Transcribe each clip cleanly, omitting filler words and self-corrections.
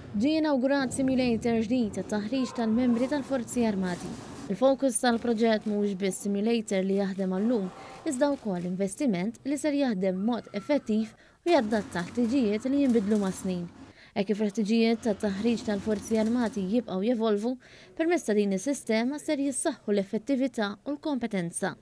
Ġie inawgurat simulator ġdid għat-taħriġ tal-membri tal-Forzi Armati. Il-fokus tal-proġett mhuwiex biss simulator li jaħdem għal-lum, iżda wkoll investiment li ser jaħdem b'mod effettiv u jadatta ħtiġijiet li jinbidlu mas-snin. Hekk kif il-ħtiġijiet tat-taħriġ tal-Forzi Armati jibqgħu jevolvu, permezz ta' din is-sistema ser jissaħħu l-effettività u l-kompetenza.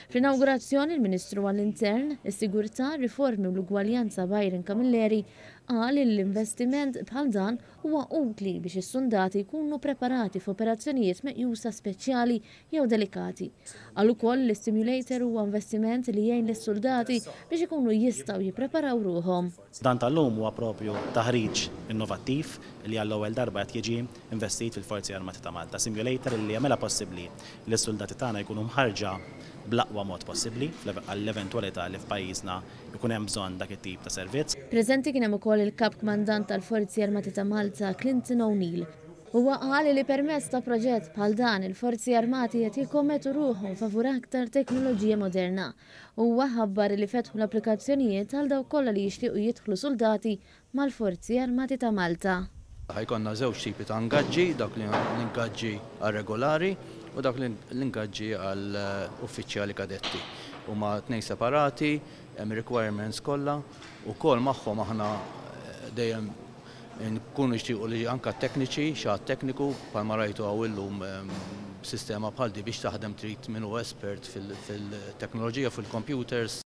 Fl-inawgurazzjoni l-Ministru għall-Intern, is-Sigurtà, Riformi u l-Ugwaljanza Byron Camilleri qal li l-investiment bħal dan huwa utli biex is-suldati jkunu preparati f'operazzjonijiet meqjusa speċjali jew delikati. Qal ukoll li s-simulator huwa investiment li jgħin lis-suldati biex ikunu jistgħu jippreparaw ruħhom. Dan tal-lum huwa propju taħriġ innovattiv li għall-ewwel darba qed jiġi investit fil-Forzi Armati ta' Malta. Simulator li jagħmilha possibbli li s-suldati tagħna jkunu mħarrġa bl-aqwa mod possibbli għall-eventwalità li f'pajjiżna jkun hemm bżonn dak it-tip ta' servizz. Preżenti kien hemm ukoll il-Kap Kmandant tal-Forzi Armati ta' Malta, Clinton O'Neill. Huwa qal li permezz ta' proġett bħal dan il-Forzi Armati qed jikkommettu ruħhom favur aktar teknoloġija moderna. Huwa ħabbar li fetħu l-applikazzjonijiet għal dawk kollha li jixtiequ jidħlu suldati mal-Forzi Armati ta' Malta. Ħa jkollna żewġ tipi ta' ingaġġi, dawk l-ingaġġi għal regolari u dawk l-ingaġġi għal uffiċjali kadetti. Huma tnejn separati, hemm requirements kollha, ukoll magħhom aħna dejjem nkunu nixtiequ li anka tekniċi, xi ħadd tekniku, bħalma rajtu hawn illum sistema bħal di biex taħdem trid min hu espert fil-teknoloġija, fil-computers.